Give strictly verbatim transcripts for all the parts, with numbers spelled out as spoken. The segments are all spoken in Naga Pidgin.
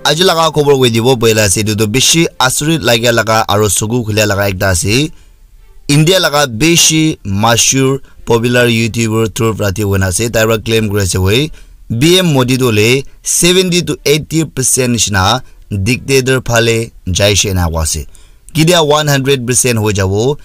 Aji laga khobor koi dibo boila ase, etu tu bishi asurit lagia laga aro suku khulia laga ekta ase. India laga bishi mashur popular YouTuber Dhruv Rathi hoina ase, tai para claim kuri ase hoi, B M Modi tu le seventy to eighty percent nishina dictator phale jaishe ena koa ase. Ketia one hundred percent hoi jabo,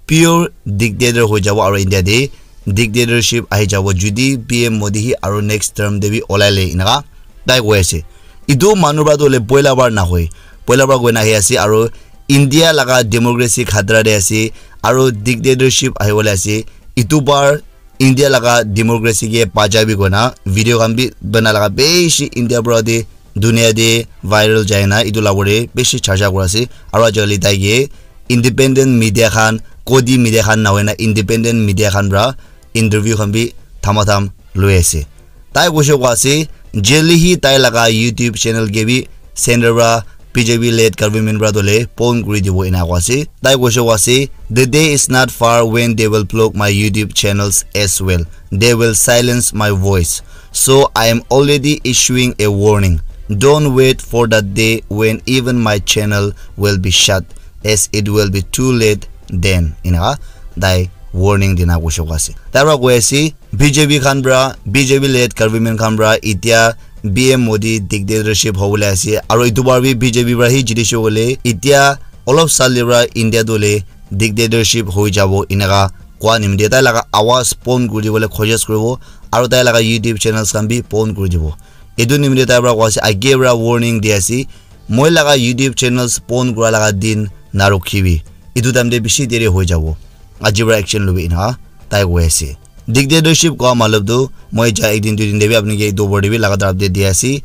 pure dictator hoi jabo aro India te dictatorship ahi jabo judi P M Modi hi aro next term te bi olai le, enaka tai koi ase. Etu manu para tu hoile poila bar nahoi, poila bar koi na ahi ase aro India laga democracy khatra te ase aro dictatorship ahi bole ase. Etu bar India laga democracy ke bacha bi koina video khan bi bana laga bishi India para te dunia te viral jai na etu la pore bishi charcha kura ase. Aro ajali tai ke independent media khan, kodi media khan na hoina independent media khan para interview khan bi thama tham loi ase. Tai koishe koa ase, jeli hi tai laga YouTube channel ke bi center para B J P led government para dole pon kuri dibo ena koa ase. Tai koishe koa ase, "The day is not far when they will block my YouTube channels as well. They will silence my voice. So I am already issuing a warning. Don't wait for that day when even my channel will be shut, as it will be too late then." Ena tai warning dina koishe koa ase. Tai para koi ase, B J P khan para, B J P led government khan para etia P M Modi dictatorship hobole ase. Aro etu bar bi B J P para hi jiti she hole, etia olop sal te para India tu le dictatorship hoi jabo enaka koa nimite tai laga awaz pon kuri dibole koshish kuribo. Aro tai laga YouTube channels khan bi pon kuri dibo. Etu nimite tai para koa ase, age para warning di ase, moi laga YouTube channels pon kura laga din narukhibi. Etu time te bishi deri hoi jabo. Aji para action lobi enaka tai koi ase. Dictatorship koa matlab tu moi ja ek din dui din te bi apni ke etu opor te bi laga taraf te di ase.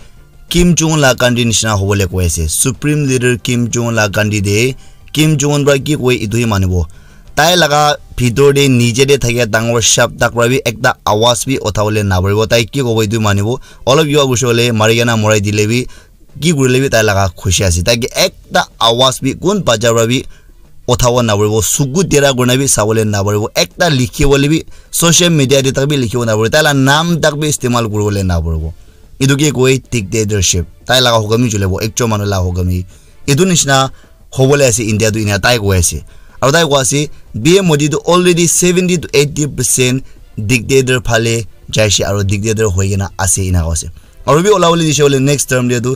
Kim Jong Un la country nishina hobole koi ase. Supreme leader Kim Jong Un la country te Kim Jong Un para ki koi etu hi manibo. Tai laga bhitor te nije te thakia dangor sharp tak para bi ekta awaz bi uthabole naparibo. Tai ki kobo etu manibo. Olop yua koishe hole mari kena morai dile bi ki kurile bi tai laga khushi ase. Tai ke ekta awaz bi kun baja para bi uthabo naparibo, suku tera kurina bi sabole naparibo, ekta likhi bole bi social media te tak bi likhibo naparibo, tai la naam tak bi istemal kuribole naparibo. Etu ke koi dictatorship. Tai laga hukam hi chulibo, ekjon manu la hukam hi. Etu nishina hobole ase India tu ena tai koi ase. Aro tai koi ase, P M Modi tu already seventy to eighty percent dictator phale jaishe aro dictator hoi kena ase ena koi ase. Aro bi ola bole dishe bole next term te tu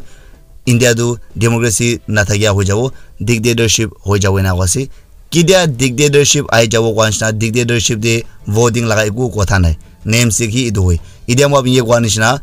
India tu democracy nathakia hoi jabo, dictatorship hoi jabo ena koi ase. Ketia dictatorship ahi jabo koa nishina, dictatorship te voting laga eku kotha nai. Namesake hi etu hoi. Etia moi apni ke koa nishina,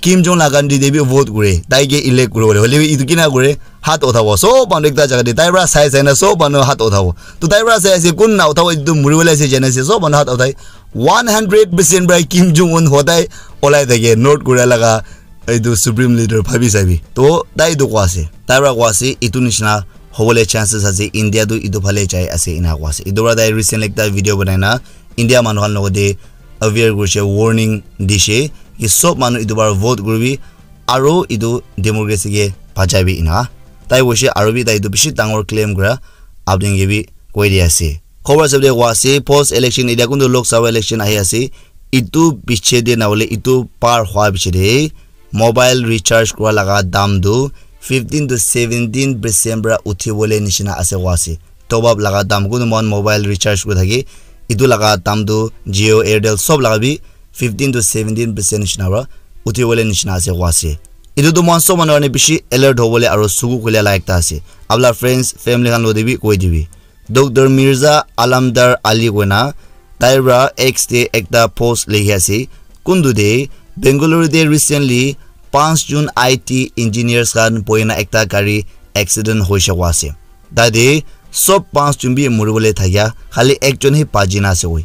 Kim Jong la country te bi vote kure, tai ke elect kure bole. Hoile bi etu kina kure, hat uthabo. Sob manu ekta jaga te, tai para sai sai na sob manu hat uthabo. To tai para sai ase, kun na uthabo, etu muri bole ase jana ase, sob manu hat uthai. One hundred percent para Kim Jong Un hodai olai thake, North Korea laga etu supreme leader bhabi sabi. To tai etu koa ase. Tai para koa ase, etu nishina hobole chances ase, India tu etu phale jai ase, ena koa ase. Etu para tai recently ekta video banai na, India manu khan logote aware kurishe, warning dishe, ki sob manu etu bar vote kuribi, aro etu democracy ke bachaibi ena. Tai hoishe aro bi tai etu bishi dangor claim kura, apni ke bi koi di ase. Khobor sabde koa ase, post election etia kuntu Lok Sabha election ahi ase, etu piche de na hoile etu par hua piche de, mobile recharge kura laga dam tu fifteen to seventeen percent para uthi bole nishina ase koa ase. Top up laga dam, kunu mon mobile recharge kuri thaki, etu laga dam tu Jio, Airtel sob laga bi fifteen to seventeen percent nishina para uthi bole nishina ase koa ase. Etu tu mon sob manu karne bishi alert hobole aro suku khule la ekta ase. Apna friends, family khan lo de bi koi dibi. Doctor Mirza Alamdar Ali koina tai para X te ekta post likhi ase. Kuntu te Bengaluru te recently panch jon I T engineers khan bohina ekta gari accident hoishe koa ase. Tate sob panch jon bi muribole thakia, khali ekjon hi baji na ase koi.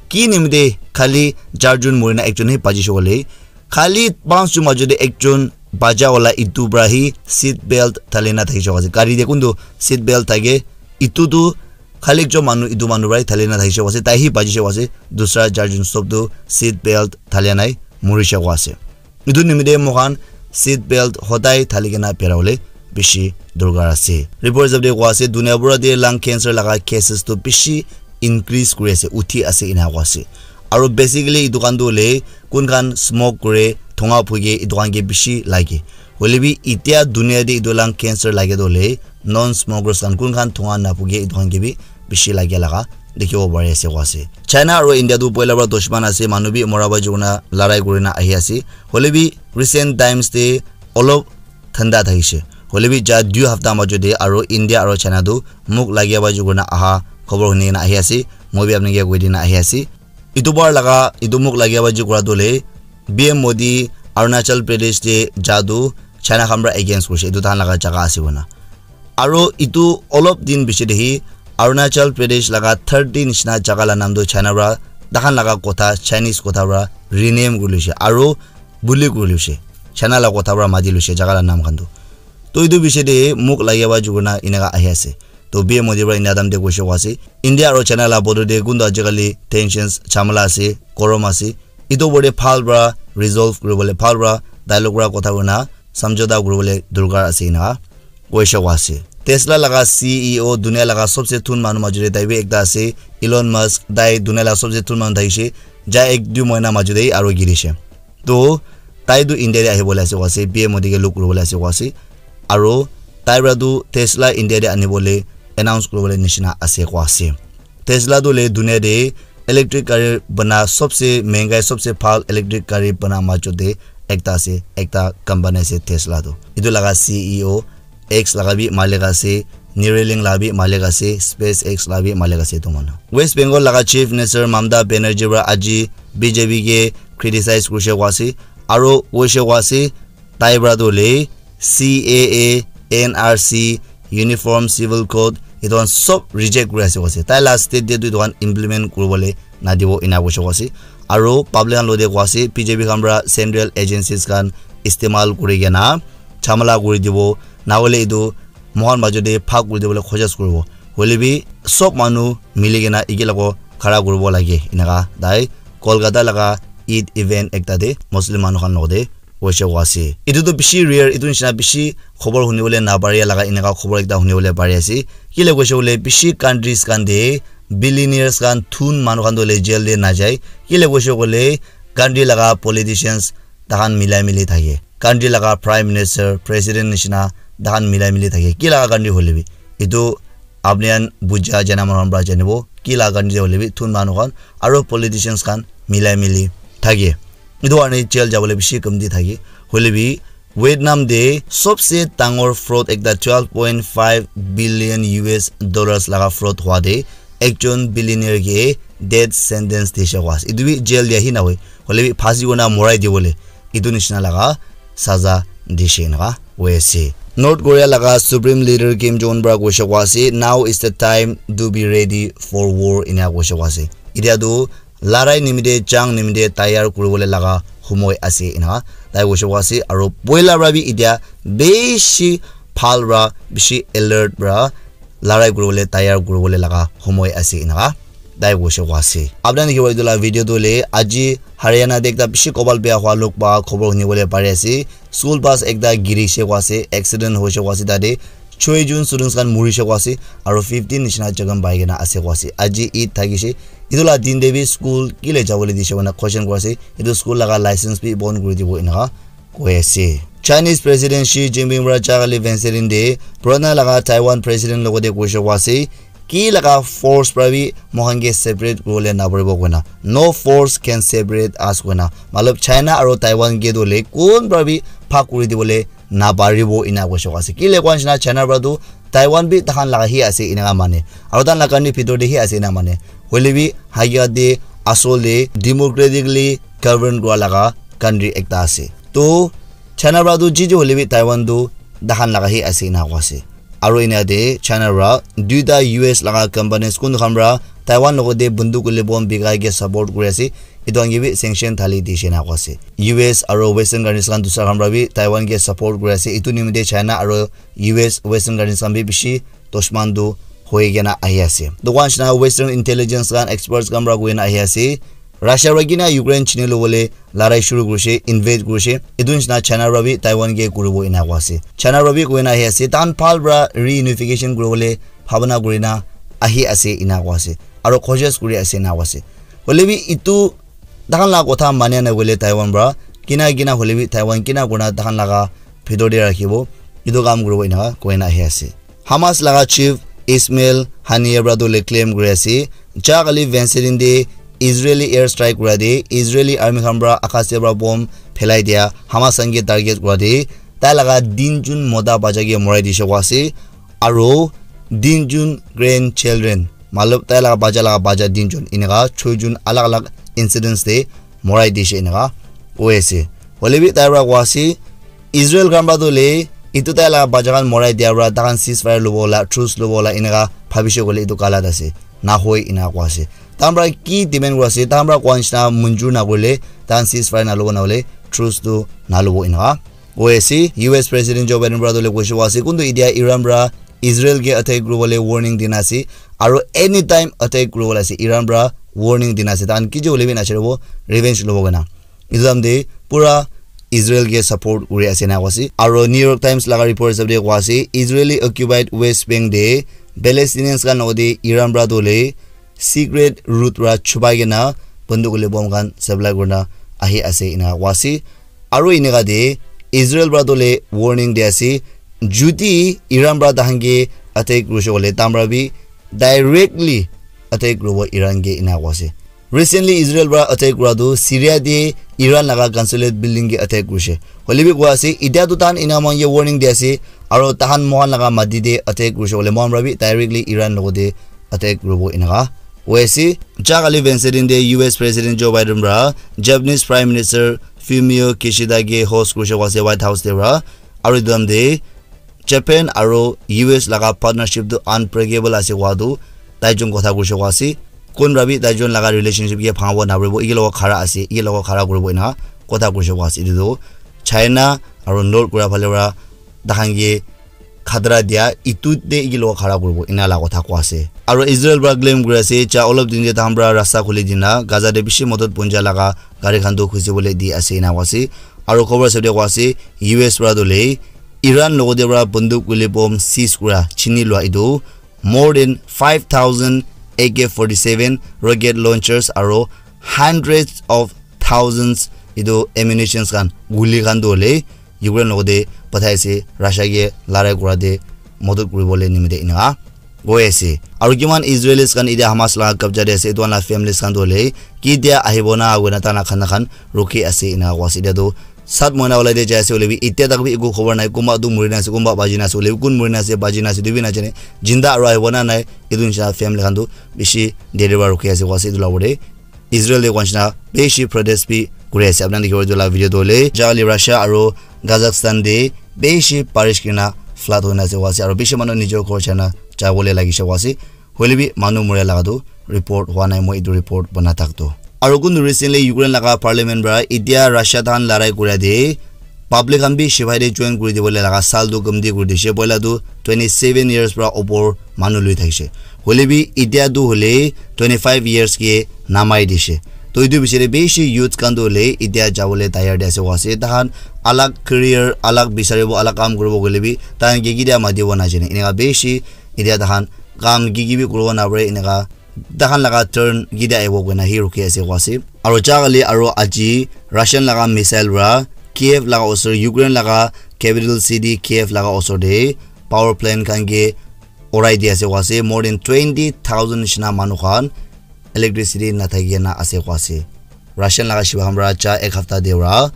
Ki nimite khali char jon murina ekjon hi bajishe koile, khali panch jon majo te ekjon baja wala etu para hi seat belt thali na thakishe koa ase. Gari te kuntu seat belt thake, etu tu khali ekjon manu, etu manu para hi thali na thakishe koa ase, tai hi bajishe koa ase, dusra char jon sob tu seat belt thali nai murishe koa ase. Etu nimite moikhan seat belt hodai thali kena bera bole bishi dorkar ase. Report hisab te koa ase, dunia pura te lung cancer laga cases tu bishi increase kuri ase, uthi ase ena koa ase. Aro basically etu khan tu hoile kun khan smoke kure, thonga phuke, etu khan ke bishi lage. Hoile bi itia dunia te etu lung cancer lage tu hoile non smokers khan kun khan thunga napuke etu khan ke bi bishi lage laga dikhibo pari ase koa ase. China aro India tu poila para dushman ase, manu bi mora bai jukuna larai kurina ahi ase. Hoile bi recent times te olop thanda thakishe. Hoile bi ja dui hafta majo te aro India aro China tu muk lagia bai jukuna aha khobor huni kena ahi ase. Moi bi apni ke koi dina ahi ase. Itu bar laga itu muk lagia bai jukura tu le P M Modi Arunachal Pradesh te ja tu China khan para against kurishe. Itu tahan laga jaga ase koina. Aro itu olop din piche te hi Arunachal Pradesh laga thirty nishina jaga la nam tu China para tahan laga kotha, Chinese kotha para rename kuri luishe. Aro buli kuri luishe. China la kotha para mati luishe jaga la nam khan tu. To itu piche te muk lagia bai jukuna inaka ahi ase. To P M Modi para India dam te kuishe koa ase. India aro China la border te kuntu ajikali tensions, jhamala ase, gorom ase. Itu opor te bhal para resolve kuribole, bhal para dialogue para kotha kurina samjhota kuribole dorkar ase ena kuishe koa ase. Tesla laga C E O dunia laga sobse thun manu majo te tai bi ekta ase, Elon Musk, tai dunia laga sobse thun manu thakishe, ja ek dui mohina majo te aro girishe. To tai tu India te ahibole ase koa ase, P M Modi ke log kuribole ase koa ase. Aro tai para tu Tesla India te anibole announce kuribole nishina ase koa ase. Tesla tu le dunia te electric gari bana sobse mehengai, sobse bhal electric gari bana majo te ekta ase, ekta company ase Tesla tu. Itu laga C E O X laga bi malik ase, Neuralink laga bi malik ase, SpaceX laga bi malik ase itu manu. West Bengal laga Chief Minister Mamata Banerjee para aji B J P ke criticize kurishe koa ase, aro kuishe koa ase, tai para tu le C A A, N R C, Uniform Civil Code, itu khan sob reject kuri ase koa ase. Tai la state te tu itu khan implement kuribole nadibo ena kuishe koa ase. Aro public khan lo te koa ase, B J P khan para central agencies khan istemal kuri kena jhamala kuri dibo, na hoile itu mohan majo te bhag kuri dibole khojaj kuribo. Hoile bi sob manu mili kena eke logo khara kuribo lage, enaka tai Kolkata laga Eid event ekta te Muslim manu khan logo te kuishe koa ase. Itu tu bishi rare, itu nishina bishi khobor hunibole naparia laga enaka khobor ekta hunibole pari ase. Kile kuishe koile bishi countries khan te billionaires khan thun manu khan tu le jail te najai. Kile kuishe koile country laga politicians tahan milai mili thake. Country laga prime minister, president nishina tahan milai mili thake. Ki laga country hoile bi. Itu apni khan buja jana manu khan para janibo. Ki laga country hoile bi thun manu khan aro politicians khan milai mili thake. Itu karne jail jabole bishi kamti thake. Hoile bi Vietnam te sobse dangor fraud ekta twelve point five billion U S dollars laga fraud hua te ekjon billionaire ke death sentence dishe koa ase. Itu bi jail dia hi nahoi. Hoile bi phasi kena morai dibole. Itu nishina laga saza dishe enaka hoi ase. North Korea laga Supreme Leader Kim Jong Un para kuishe koa ase, "Now is the time to be ready for war," ena kuishe koa ase. Itya tu larai nimite, jang nimite tayar kuribole laga humoi ase ena tai kuishe koa ase. Aro poila para bi itya bishi bhal para, bishi alert para larai kuribole tayar kuribole laga humoi ase ena tai kuishe koa ase. Apna khan dikhibo etu la video tu hoile aji Haryana te ekta bishi kobal bia hua log pa khobor hunibole pari ase. School bus ekta girishe koa ase, accident hoishe koa ase tate. Choi jun students khan murishe koa ase, aro fifteen nishina jakham pai kena ase koa ase. Aji Eid thakishe, etu la din te bi school kile jabole dishe koina question kuri ase. Etu school laga license bi bon kuri dibo enaka koi ase. Chinese President Xi Jinping para jai kali Wednesday din te purana laga Taiwan President logote kuishe koa ase, ki laga force para bi moikhan ke separate kuribole naparibo koina. No force can separate us koina. Matlab China aro Taiwan ke tu hoile kun para bi bhag kuri dibole naparibo ena kuishe koa ase. Kile koa nishina China para tu Taiwan bi takhan laga hi ase enaka mane. Aro takhan laga country bitor te hi ase ena mane. Hoile bi hakikat te asol te democratically govern kura laga country ekta ase. To China para tu ji ji hoile bi Taiwan tu takhan laga hi ase ena koa ase. Aro ena te China para duita U S laga companies kun khan para Taiwan logote bunduk hoile bomb bikai ke support kuri ase. Etu khan ke bi sanction thali dishe ena koa ase. U S aro Western countries khan dusra khan para bi Taiwan ke support kuri ase. Etu nimite China aro U S Western countries khan bi bishi dushman tu hoi kena ahi ase. Etu koa nishina Western intelligence khan experts khan para koi kena ahi ase. Russia para kina Ukraine chini lobole larai shuru kurishe, invade kurishe. Etu nishina China para bi Taiwan ke kuribo ena koa ase. China para bi koi kena ahi ase. Takhan bhal para reunification kuribole bhabana kuri kena ahi ase ena koa ase. Aro khojaj kuri ase ena koa ase. Hoile bi etu takhan laga kotha mania nahoile Taiwan para kina kina hoile bi Taiwan kina kurina takhan laga bhitor te rakhibo, etu kam kuribo eneka koi na ahi ase. Hamas laga chief Ismail Haniyeh para tu le claim kuri ase, ja kali Wednesday din te Israeli air strike kura te Israeli army khan para akash te para bomb phelai dia Hamas khan ke target kura te tai laga tinjon mota bacha ke morai dishe koa ase, aro tinjon grandchildren, matlab tai laga bacha laga bacha tinjon, eneka choijon alag alag incidents te morai dishe eneka koi ase. Hoile bi tai para koa ase, Israel khan para tu le etu tai laga bacha khan morai dia para tai khan ceasefire lobo la, truce lobo la eneka bhabishe koile etu galat ase, nahoi eneka koa ase. Tai khan para ki demand kura ase, tai khan para koa nishina munjur nakurile tai khan ceasefire nalobo nahole truce tu nalobo eneka koi ase. U S President Joe Biden para tu le koishe koa ase, kuntu etia Iran para Israel ke attack kuribole warning dina ase, aro anytime attack kuribole ase, Iran para warning dina ase, tai khan kiji hoile bi nacharibo, revenge lobo koina. Etu time te pura Israel ke support kuri ase na koa ase. Aro New York Times laga report hisab te koa ase, Israeli occupied West Bank te Palestinians khan logote Iran para tu le secret route para chupai kena banduk le bomb khan supply kurina ahi ase eneka koa ase. Aro eneka te Israel para tu le warning di ase, jodi Iran para tai khan ke attack kurishe koile tai khan para bi directly attack kuribo Iran ke eneka koa ase. Recently Israel para attack kura tu Syria te Iran laga consulate building ke attack kurishe. Hoile bi koa ase, etia tu tai khan eneka moikhan ke warning di ase, aro tai khan moikhan laga mati te attack kurishe koile moikhan para bi directly Iran logote attack kuribo eneka koi ase. Ja kali Wednesday din te U S President Joe Biden para Japanese Prime Minister Fumio Kishida ke host kurishe koa ase White House te para. Aro etu time te Japan aro U S laga partnership tu unbreakable ase koa tu tai jun kotha kurishe koa ase. Kun para bi tai jun laga relationship ke bhangabo naparibo, eke logot khara ase, eke logot khara kuribo eneka kotha kurishe koa ase. Etu tu China aro North Korea phale para tai khan ke khatra dia, etu te eke logot khara kuribo, ena la kotha koa ase. Aro Israel para claim kuri ase, ja olop din te tai khan para rasta khuli dina, Gaza te bishi modot punja laga gari khan tu khusi bole di ase, ena koa ase. Aro khobor hisab te koa ase, U S para tu le Iran logote para banduk hoile bomb seize kura, chini lua etu, more than five thousand A K forty-seven rocket launchers aro hundreds of thousands etu ammunitions khan, guli khan tu hoile Ukraine logote pathai ase, Russia ke larai kura te modot kuribole nimite eneka koi ase. Aro kiman Israelis khan etia Hamas laga kabja te ase, etu khan la families khan tu hoile ketia ahibo na koina tai khan la khana khan rukhi ase eneka koa ase. Etia tu sat mohina ulai te jai ase hoile bi etia tak bi eku khobor nai, kunba tu muri na ase, kunba baji na ase, hoile bi kun muri na ase, baji na ase, etu bi najane, jinda aro ahibo na nai, etu nishina family khan tu bishi deri para rukhi ase koa ase. Etu la opor te Israel te koa nishina bishi protest bi kuri ase. Apni khan dikhibo etu la video tu hoile, ja kali Russia aro Kazakhstan te bishi barish kurina flood hoina ase koa ase, aro bishi manu nijor ghor jana jabole lagise koa ase. Hoile bi manu moria laga tu report hua nai, moi etu report bana thak tu. Aro kuntu recently Ukraine laga parliament para etia Russia tai khan larai kura te public khan bi sipai te join kuri dibole laga sal tu komti kuri dishe. Poila tu twenty seven years para opor manu lui thakishe. Hoile bi etia tu hoile twenty five years ke namai dishe. To etu bichare bishi youth khan tu hoile etia jabole tayar te ase koa ase. Tai khan alag career, alag bisaribo, alag kam kuribo koile bi tai khan ke ketia matibo najane. Eneka bishi etia tai khan kam ki ki bi kuribo napare, eneka tai khan laga turn ketia ahibo koina hi rukhi ase koa ase. Aro ja kali aro aji Russian laga missile para Kiev laga osor, Ukraine laga capital city Kiev laga osor te power plant khan ke urai di ase koa ase. More than twenty thousand nishina manu khan electricity nathaki na ase koa ase. Russian laga shiba khan para ja ek hafta te para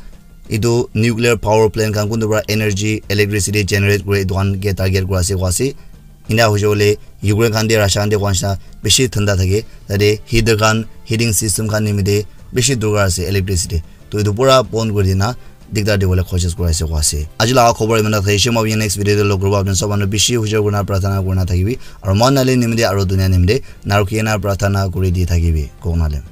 etu nuclear power plant khan kuntu para energy, electricity generate kure, etu khan ke target kura ase koa ase. Ena hoise koile Ukraine khan te Russia khan te koa nishina bishi thanda thake, tate heater khan, heating system khan nimite bishi dorkar ase electricity. To etu pura bon kuri dina dikdar dibole koshish kuri ase koa ase. Aji laga khobor iman tak thakishe, moi apni next video te log kuribo. Apni sob manu bishi hujor kurina prarthana kurina thakibi. Aro mohan nale nimite aro dunia nimite narukhi kena prarthana kuri di thakibi. Kok nale.